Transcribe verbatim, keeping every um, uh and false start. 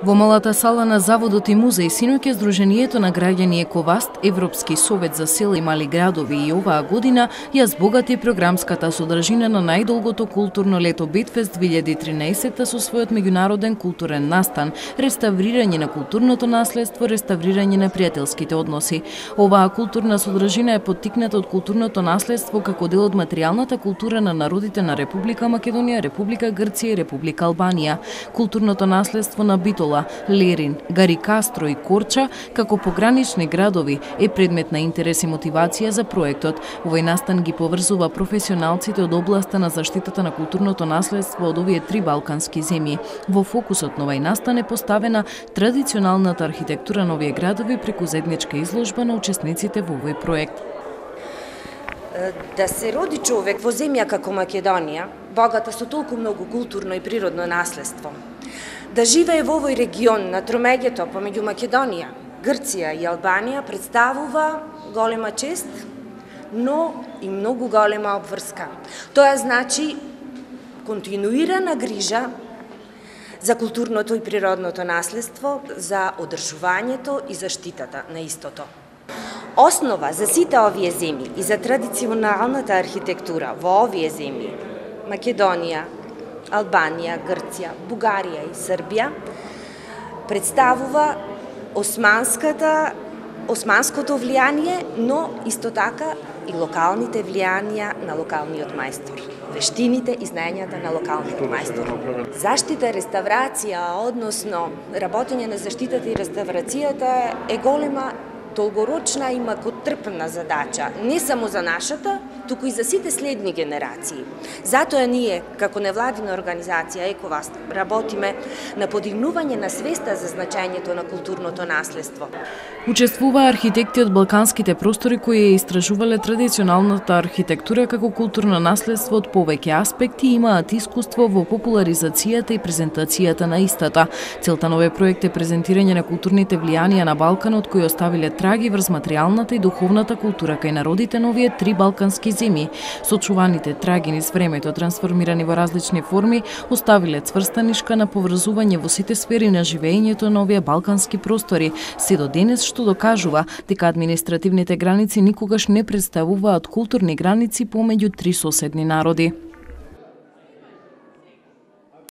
Во малата сала на Заводот и музеј синоќа Сдруженијето на граѓани Ековаст, Европски совет за села и мали градови и оваа година ја збогати програмската содржина на најдолгото културно лето Битфест две илјади и тринаесетта со својот меѓународен културен настан, реставрирање на културното наследство, реставрирање на пријателските односи. Оваа културна содржина е поттикната од културното наследство како дел од материјалната култура на народите на Република Македонија, Република Грција и Република Албанија. Културното наследство на Битола, Лерин, Гарикастро и Корча, како погранични градови, е предмет на интерес и мотивација за проектот. Овој настан ги поврзува професионалците од областа на заштитата на културното наследство од овие три балкански земји. Во фокусот на овој настан е поставена традиционалната архитектура на овие градови преку заедничка изложба на учесниците во овој проект. Да се роди човек во земја како Македонија, богата со толку многу културно и природно наследство, да живее во овој регион на тромеѓето помеѓу Македонија, Грција и Албанија представува голема чест, но и многу голема обврска. Тоа значи континуирана грижа за културното и природното наследство, за одржувањето и заштитата на истото. Основа за сите овие земји и за традиционалната архитектура во овие земји, Македонија, Албанија, Грција, Бугарија и Србија, представува османската, османското влијание, но исто така и локалните влијанија на локалниот мајстор, вештините и знаењата на локалниот мајстор. Заштита, реставрација, односно работење на заштитата и реставрацијата е голема, долгорочна и макотрпна задача, не само за нашата, туку и за сите следни генерации. Затоа ние, како невладина организација Ековаст, работиме на подигнување на свеста за значењето на културното наследство. Учествуваа архитекти од балканските простори кои ја истражувале традиционалната архитектура како културно наследство од повеќе аспекти и имаат искуство во популаризацијата и презентацијата на истата. Целта на овој проект е презентирање на културните влијанија на Балканот кои оставиле траги врз материјалната и духовната култура кај народите на овие три балкански земји. Сочуваните траги низ времето, трансформирани во различни форми, оставиле цврста нишка на поврзување во сите сфери на живеењето на овие балкански простори, се до денес што докажува дека административните граници никогаш не представуваат културни граници помеѓу три соседни народи.